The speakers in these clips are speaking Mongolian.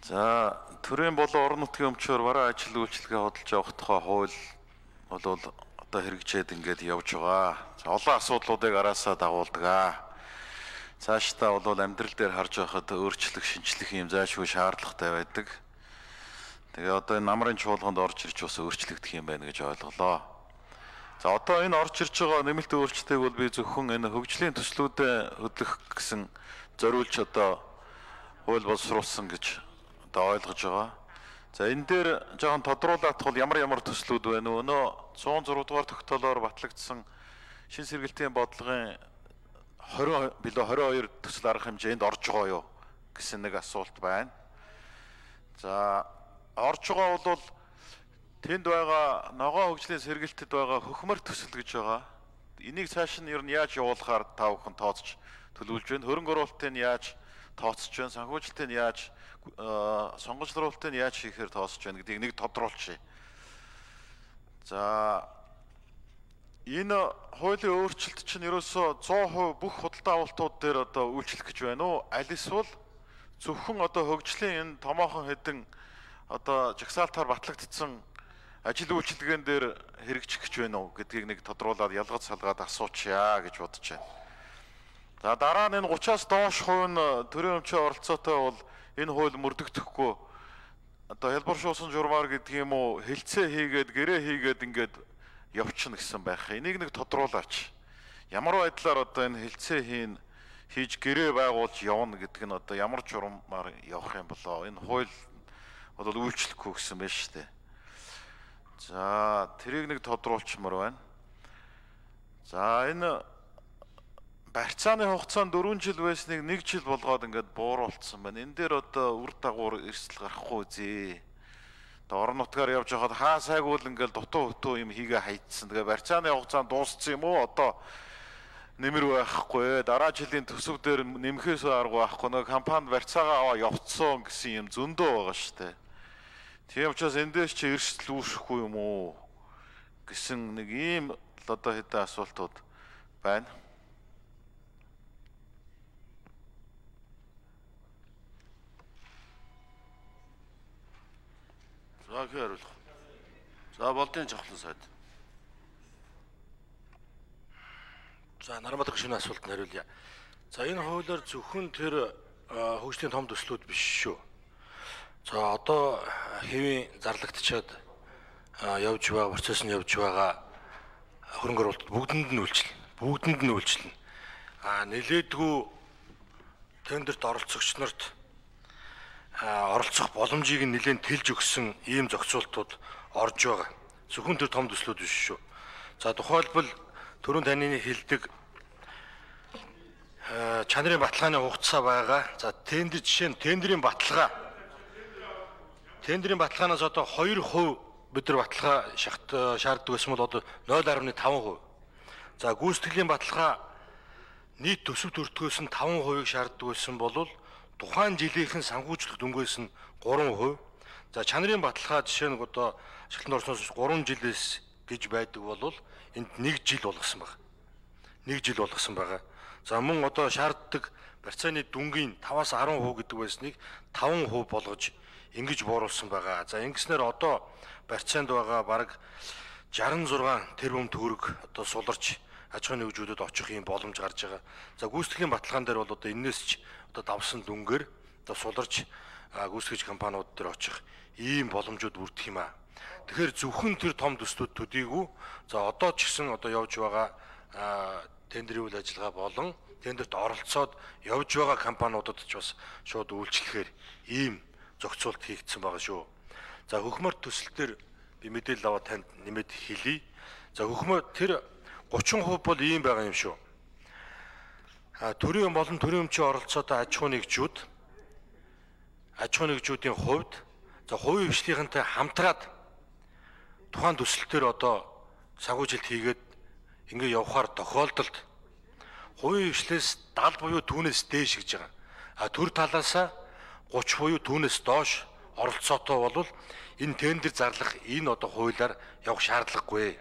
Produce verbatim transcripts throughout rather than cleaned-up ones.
За төрийн болон орон нутгийн өмчөөр бараа ажил үйлчилгээ хөдөлж явах тухай хууль бол одоо хэрэгжээд ингээд явж байгаа. За олон асуудлуудыг араасаа дагуулдаг аа. Цаашдаа бол амьдрал дээр харж байхад өөрчлөх, шинжлэх юм зайлшгүй шаардлагатай байдаг. Тэгээ одоо энэ намрын чуулганд орж ирж бас өөрчлөгдөх юм байна гэж ойлголоо. За одоо энэ орж ирж байгаа нэмэлт өөрчлөлтийг бол би зөвхөн энэ хөгжлийн төслүүдэд хөдлөх гэсэн зориулж одоо хууль боловсруулсан гэж одоо ойлгож байгаа. За энэ дээр жоохон тодруулах бол ямар ямар төслүүд байна вэ? Өнөө цуун зураг дугаар тогтоолоор батлагдсан шин сэргэлтийн бодлогын двадцать билүү двадцать хоёр төсөл арга хэмжээнд орж байгаа юу гэсэн нэг асуулт байна. За орж байгаа бол тэнд байгаа ногоон хөгжлийн сэргэлтэд байгаа хөхмөр төсөл гэж байгаа. Энийг цааш нь ер нь яаж явуулахаар та бүхэн тооцож төлөвлөж байна? Хөрөнгө оруулалтыг нь яаж тооцож байна? Санхүүжилтийг нь яаж сонгогчдруулалтыг нь яаж хийхээр тооцож байна гэдгийг нэг тодруулчих. За энэ хуулийн өөрчлөлт чинь ерөөсөө сто процент бүх худалдаа авалтууд дээр одоо үйлчлэх гэж байна уу? Аль эсвэл зөвхөн одоо хөгжлийн энэ томоохон хэдэн одоо жагсаалтаар батлагдсан ажил үйлчилгээн дээр хэрэгжих гэж байна уу гэдгийг нэг тодруулаад ялгаж салгаад асуучъя гэж бодож байна. За дараа нь энэ гуравчаас доош хувь нь төрийн өмчийн оролцоотой бол энэ хууль мөрдөгдөхгүй одоо хялбар шуусан журмаар гэдэг юм уу хэлцээ хийгээд гэрээ хийгээд ингээд явчихна гэсэн байх. Энийг нэг тодруулаач. Ямар байдлаар одоо энэ хэлцээ хийн хийж гэрээ байгуулж явна гэдэг нь одоо ямар журмаар явах юм болоо. Энэ хууль бол үйлчлэхгүй гэсэн байна шүү дээ. За тэрийг нэг тодруулчмаар байна. За энэ барьцааны хугацаанд дөрвөн жил байсныг нэг жил болгоод ингээд бууруулсан байна. Энэ дээр одоо үр дагавар эрсдэл гарахгүй зээ. Одоо орон нутгаар явж байхад хаа сайгуул ингээд дутуу хөтөө юм хийгээ хайцсан. Тэгээ барьцааны хугацаанд дууссан юм уу? Одоо нэмэр байхгүй. Дараа жилийн төсөв дээр нэмэхээс арга байхгүй. Нэг компани барьцаагаа аваа явцсан гэсэн юм зөндөө байгаа шүү дээ. Тийм учраас эндээс чи эрсдэл үүсэхгүй юм уу гэсэн нэг ийм одоо хэдэн асуултууд байна. За хэрэв. За болдын жавхлан сайд. За Нармадах шинэ асуултанд хариулъя. За энэ хуулиар зөвхөн тэр хөгжлийн том төслүүд биш шүү. За одоо хэвийн зарлагдчаад явж байгаа процесс нь явж байгаа хөрөнгө оруулалт бүгдэнд нь үйлчлэнэ. Бүгдэнд нь үйлчлэнэ. А нэлээдгүй тендерт оролцогч нарт оролцох боломжийг нь нэлээд тэлж өгсөн ийм зохицуултууд орж байгаа. Зөвхөн тэр том төслүүд биш шүү. За тухайлбал түрүүн таны хэлдэг чанарын баталгааны хугацаа байгаа. За тендер жишээ нь тендерийн баталгаа Тендерийн баталгаанаас одоо хоёр хувь бид нар баталгаа шахт шаарддаг байсан бол одоо ноль гаруй таван хувь. За гүйцэтгэлийн баталгаа нийт төсөв төртгөөс нь таван хувийг шаарддаг байсан бол тухайн жилийнхэн санхүүжлэх дүнгээс нь гурван хувь. За чанарын баталгаа жишээ нь одоо ашиглалтанд орсноос гурван жилээс гэж байдаг бол энд нэг жил болгосон байна. нэг жил болгосон байгаа. За мөн одоо шаарддаг барьцааны дүнгийн таваас арван хувь гэдэг байсныг таван хувь болгож ингэж бууруулсан байгаа. За ингэснээр одоо барьцаанд байгаа бараг шестьдесят шесть тэрбум төгрөг одоо суларч аж ахуйн нэгжүүдэд очих юм боломж гарч байгаа. За гүйцэтгэлийн баталгаан дээр бол одоо энэс ч одоо давсан дүнгээр одоо суларч гүйцэтгэгч компаниуд дээр очих ийм боломжууд бүрдэх юм аа. Тэгэхээр зөвхөн тэр том төслүүд төдийгүй за одоо ч гэсэн одоо явж байгаа тендерийн үйл ажиллагаа болон тендерт оролцоод явж байгаа компаниудад ч бас шууд үйлчлэхээр ийм зохицуулт хийгдсэн байгаа шүү. За хөхмөр төсөлтөр би мэдээлэл аваад танд нэмэд хэлье. За хөхмөр тэр гучин хувь бол ийм байгаа юм шүү. А төрийн болон төрийн өмчийн оролцоотой аж ахуйн нэгжүүд аж ахуйн нэгжүүдийн хувьд за хувийн хвшлийнхэнтэй хамтраад тухайн төсөлтөр одоо санхүүжилт хийгээд ингэ явахаар тохиолдолд хувийн хвшлээс даал буюу түүнээс дээш гэж байгаа. А төр талаасаа гуч буюу түүнээс доош оролцоотой бол энэ тендер зарлах энэ одоо хуулиар явах шаардлагагүй.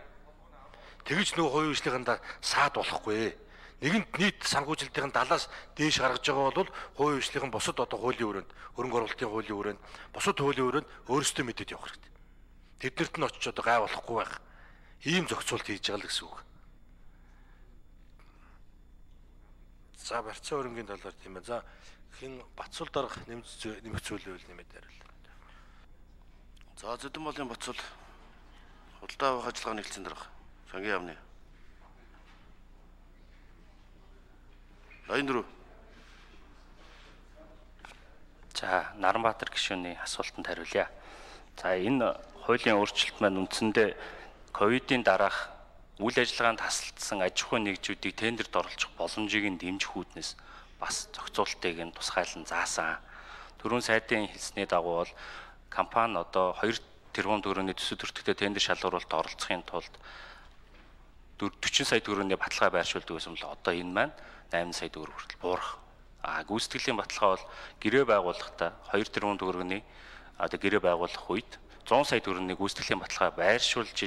Тэгж нөгөө хувийн хвшлийнхэнтэй саад болохгүй. Нэгэнт нийт санхүүжилтийн далаас дээш гаргаж байгаа бол хувийн хвшлийн бусад одоо хуулийн өрөөнд, хөрөнгө оруулалтын хуулийн өрөөнд, бусад хуулийн өрөөнд өөрсдөө мэдээд явах хэрэгтэй. Тэднэрт нь очиж одоо гай болохгүй байх. Ийм зохицуулт хийж байгаа л гэсэн үг. За барьцаа хөрөнгийн талаар тийм ээ. За хин Батсул дарга нэмж нэмэх зүйлүүл нэмээд хариулъя. За Зэдэн болын Батсул худалдаа авах ажиллагаа нэгдсэн дарга. Сангийн яамны. Аяндүр. За Наранбаатар гишүүний асуултанд хариулъя. За энэ хуулийн өөрчлөлт маань үндсэндээ ковидын дараах үйл ажиллагаанд тасалдсан аж ахуйн нэгжүүдийг тендерт оролцох боломжийг нь дэмжих үүднээс бас зохицуултыг нь тусгайлан заасан. Түрүүн сайдын хэлсний дагуу бол компани одоо хоёр тэрбум төгрөгийн төсөв төртөгтэй тендер шалгуулалт оролцохын тулд дөрвөн сая төгрөгийн баталгаа байршуулдаг байсан бол одоо энэ маань найман сая төгрөг хүртэл буурах. А гүйцэтгэлийн баталгаа бол гэрээ байгуулахдаа хоёр тэрбум төгрөгийн одоо гэрээ байгуулах үед зуун сая төгрөгийн гүйцэтгэлийн баталгаа байршуулж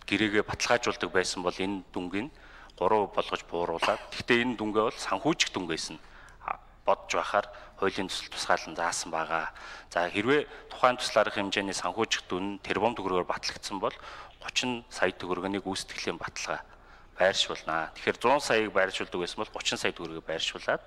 гэрээгээ баталгаажуулдаг байсан бол энэ дүнгийн гурав болгож бууруулаад гэхдээ энэ дүнгээ бол санхүүжих дүнгээс нь бодж байхаар хуулийн төсөл тусгаалan заасан байгаа. За хэрвээ тухайн туслаарах хэмжээний санхүүжих дүн тэрбум төгрөгөөр батлагдсан бол гучин сая төгрөгийн гүйцэтгэлийн баталгаа байршуулнаа. Тэгэхээр зуун саяыг байршуулдаг байсан бол гучин сая төгрөгийг байршуулад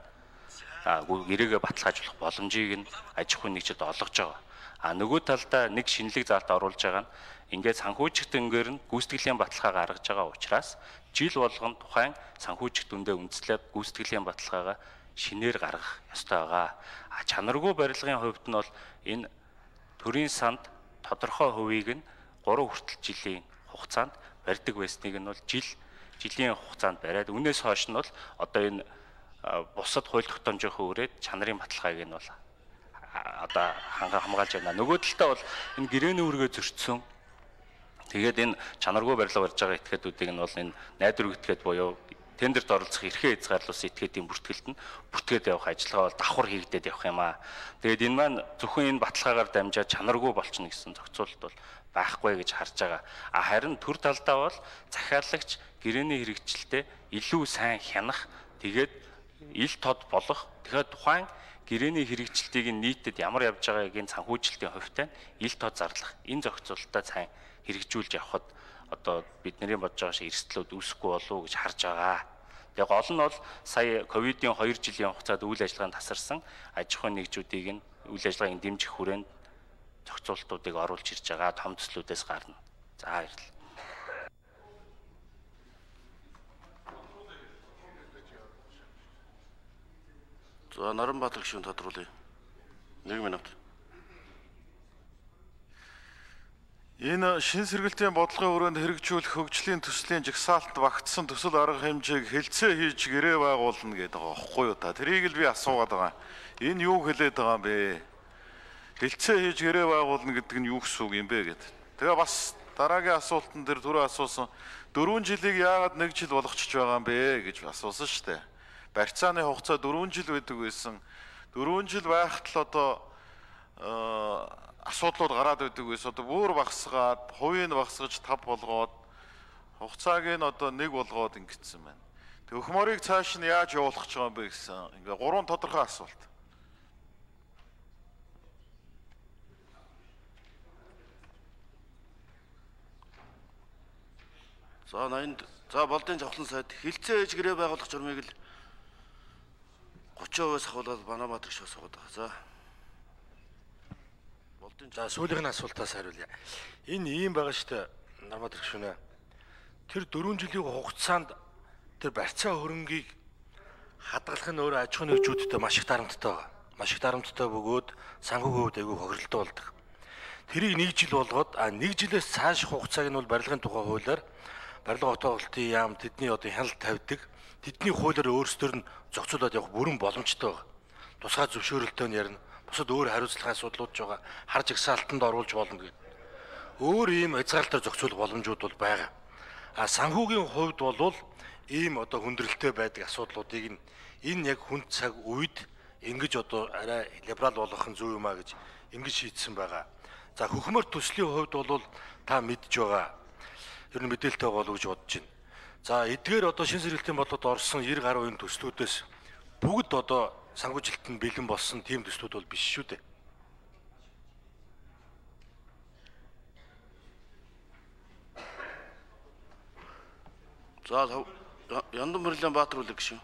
гэрээгээ баталгаажуулах боломжийг нь аж ахуйн нэгжид олгож байгаа. А нөгөө талдаа нэг шинэлэг заалт оруулж байгаа нь ингээд санхүүжих дүнгээр нь гүйцэтгэлийн баталгаа гаргаж байгаа учраас жил болгон тухайн санхүүжих дүндээ үндэслээд гүйцэтгэлийн баталгаагаа шинээр гаргах ёстой байгаа. А чанаргүй барилгын хувьд нь бол энэ төрийн санд тодорхой хувийг нь гурав хүртэл жилийн хугацаанд барьдаг байсныг нь бол жил жилийн хугацаанд бариад үнээс хойш нь бол одоо энэ бусад хууль тогтоомжийнхөө үрээд чанарын баталгааг нь бол одоо ханга хамгаалж байна. Нөгөө талдаа бол энэ гэрээний үргээ зөрчсөн. Тэгээд энэ чанаргүй барилга барьж байгаа этгээдүүдийг нь бол энэ найдвар этгээд буюу тендерт оролцох эрхээ хязгаарлуулсан этгээдийн бүртгэлд нь бүртгээд явах ажиллагаа бол давхар хийгдээд явах юм аа. Тэгээд энэ маань зөвхөн энэ баталгаагаар дамжаад чанаргүй болчихно гэсэн зохицуулалт бол байхгүй гэж харж байгаа. А харин төр талдаа бол захиалагч гэрээний хэрэгжилтэд илүү сайн хянах, тэгээд ил тод болох, тэгэхээр тухайн гэрээний хэрэгжилтийг нийтэд ямар явж байгааг энэ санхүүжилтийн хувьтай ил тод зарлах энэ зохицуулалтаа сайн хэрэгжүүлж явхад одоо бидний бодож байгаа шиг эрсдлүүд үүсэхгүй болов уу гэж харж байгаа. Тэгээ гол нь бол сая ковидын хоёр жилийн хугацаанд үйл ажиллагаанд тасарсан аж ахуйн нэгжүүдийг нь үйл ажиллагааг дэмжих хүрээнд зохицуултуудыг оруулж ирж байгаа том төслүүдээс гарна. За баярлалаа. За Наранбаатар гишүүн тодруулъя. нэг минут. Энэ шин сэргэлтийн бодлогын хүрээнд хэрэгжүүлэх хөгжлийн төслийн жагсаалт багтсан төсөл арга хэмжээг хэлцээ хийж гэрээ байгуулна гэдэг байгаа байхгүй юу та. Тэрийг л би асуугаад байгаа. Энэ юу хэлээд байгаа юм бэ? Хэлцээ хийж гэрээ байгуулна гэдэг нь юу гэсэн үг юм бэ гэдэг. Тэгээ бас дараагийн асуултан дээр түрүү асуусан дөрвөн жилийг яагаад нэг жил болгочихж байгаа юм бэ гэж асуусан шүү дээ. Барьцааны хугацаа дөрвөн жил байдаг байсан. дөрвөн жил байхад л одоо асуудлууд гараад байдаг байсан. Одоо бүр багсгаад, хувийг багсгаж тав болгоод хугацааг нь одоо нэг болгоод ингэсэн байна. Тэг өх морийг цааш нь яаж явуулах гэж байгаа юм бэ гэсэн. Ингээ гурван тодорхой асуулт. За наянд за болдын жавхлан сайд хэлцээ ээж гэрээ байгуулах журмыг л гучин хувиас ахуулаад Банамбаатар гişүү асуугаад байгаа. За. Болдын за сүүлийн асуултаас хариулъя. Энэ ийм байгаа шүү дээ. Наранбаатар гişүүнэ. Тэр дөрвөн жилийн хугацаанд тэр барьцаа хөрөнгийг хадгалах нь өөрөө аж ахуйн нэгжүүдтэй маш их дарамттай байгаа. Маш их дарамттай бөгөөд санхүүгийн хувьд айгүй хохиролтой болдог. Тэрийг нэг жил болгоод а нэг жилээс цааш хугацааг нь бол барилгын тухай хуулиар барилга хотоолтын яам тэдний одоо хяналт тавьдаг. Тэдний хуулиар өөрсдөр нь зохицуулаад явах бүрэн боломжтой байна. Тусгай зөвшөөрөлтөө нь ярина. Бусад өөр хариуцлагын асуудлууд ч байгаа. Хар жагсаалтанд оруулж болно гэдэг. Өөр ийм хязгаарлалтаар зохицуулах боломжууд бол байгаа. А санхүүгийн хувьд бол ийм одоо хүндрэлтэй байдаг асуудлуудыг нь энэ яг хүнд цаг үед ингэж одоо арай либерал болгох нь зөв юм а гэж ингэж шийдсэн байгаа. За хөхмөр төслийн хувьд бол та мэдж байгаа. Ер нь мэдээлэлтэй болов гэж бодож байна. За эдгээр одоо шин сэргэлтийн бодлогод орсон нэр гаруй энэ төслүүдээс бүгд одоо санхүүжилтанд бэлэн болсон тийм төслүүд бол биш шүү дээ. За Яндан Баярлалаа Баатар үлэг гişүн.